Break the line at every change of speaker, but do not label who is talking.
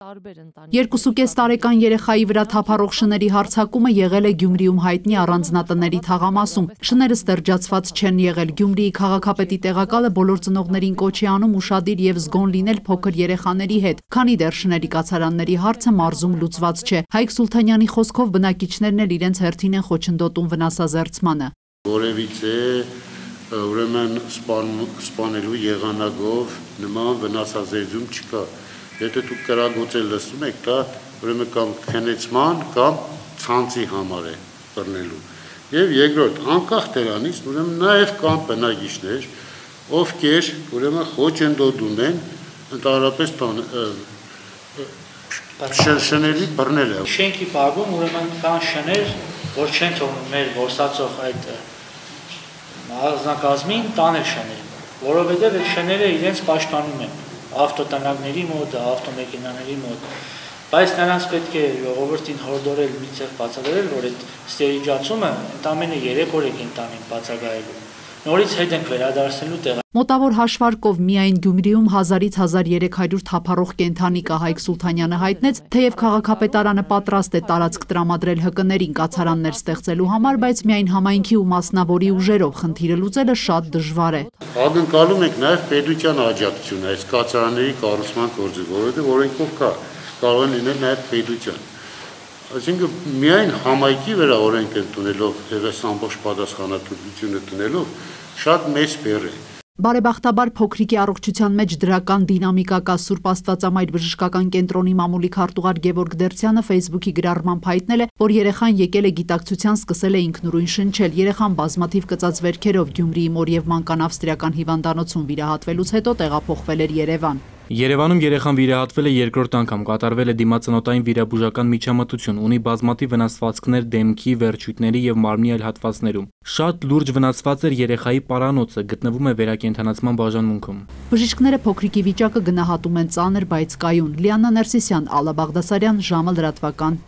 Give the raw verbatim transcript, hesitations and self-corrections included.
Երկուսուկես տարեկան երեխայի վրա թափառող շների հարձակումը եղել է Գյումրիում հայտնի առանձնատների թաղամասում։ Շները ստերջացված չեն եղել։ Գյումրիի քաղաքապետի տեղակալը բոլոր ծնողներին կոչ է անում ուշադիր եւ զգոն լինել փոքր երեխաների հետ, քանի դեռ շների կացարանների հարցը մարզում լուծված չէ։ Հայկ Սուլթանյանի խոսքով բնակիչներն էլ իրենց հերթին են խոչընդոտում վնասազերծմանը։
Որևիցե ուրեմն սպանելու եղանակով նման վնասազերծում չկա։ Եթե դուք կրագոցել լսում եք, դա ուրեմն կամ քնեցման կամ ցանցի համար է բռնելու։ Եվ երկրորդ, անկախ դրանից, ուրեմն նաև կան բնակիչներ, ովքեր ուրեմն խոչընդոտում են ընդհանրապես շների բռնելը։
Շենքի բակում ուրեմն կան շներ, որ չեն թողնում մեր որսացող այդ առանձնակազմին տանել շներին, որովհետև այդ շները իրենց պաշտպանում են ավտոտնակների մոտ, ավտոմեքենաների մոտ, բայց նրանց պետք է ժողովրդին հորդորել մի ցեղ բացատրել, որ այդ ստերիջացումը ընդամենը երեք օր է կենտանին բացակայելու։ Նորից հետ ենք վերադարձնելու տեղը։
Մոտավոր հաշվարկով միայն Գյումրիում հազարից հազար երեք հարյուր թափառող կենդանի կա, Հայկ Սուլթանյանը հայտնեց, թեև քաղաքապետարանը պատրաստ է տարածք տրամադրել հկներին կացարաններ ստեղծելու համար, բայց միայն համայնքի ու մասնավորի ուժերով խնդիրը լուծելը շատ դժվար է։
Ակնկալում ենք նաև պետության աջակցությունը այս կացարանների կառուցման գործը, որովհետև օրենքով կա, կարող են լինել նաև պետության։ Այսինքն միայն համայնքի վրա օրենք ընդունելով եւ այս ամբողջ պատասխանատվությունը տնելով շատ մեծ բեռ է։
Բարեբախտաբար փոքրիկի առողջության մեջ դրական դինամիկա կա։ Սուրբ Աստվածամայր բժշկական կենտրոնի մամուլի քարտուղար Գևորգ Դերցյանը Facebook-ի գրառմամբ հայտնել է, որ երեխան եկել է գիտակցության, սկսել է ինքնուրույն շնչել։ Երեխան բազմաթիվ կծած վերքերով Գյումրիի Մոր եւ Մանական ավստրիական հիվանդանոցում վիրահատվելուց հետո տեղափոխվել էր Երևան։
Երևանում երեխան վիրահատվել է երկրորդ անգամ, կատարվել է դիմացնոտային վիրաբուժական միջամտություն, ունի բազմաթիվ վնասվածքներ դեմքի, վերջույթների եւ մարմնի այլ հատվածներում։ Շատ լուրջ վնասված էր երեխայի պարանոցը, գտնվում է վերակենդանացման բաժանմունքում։
Բժիշկները փոքրիկի վիճակը գնահատում են ծանր, բայց կայուն։ Լիաննա Ներսիսյան, Ալլա Բաղդասարյան, ժամը լրատվական։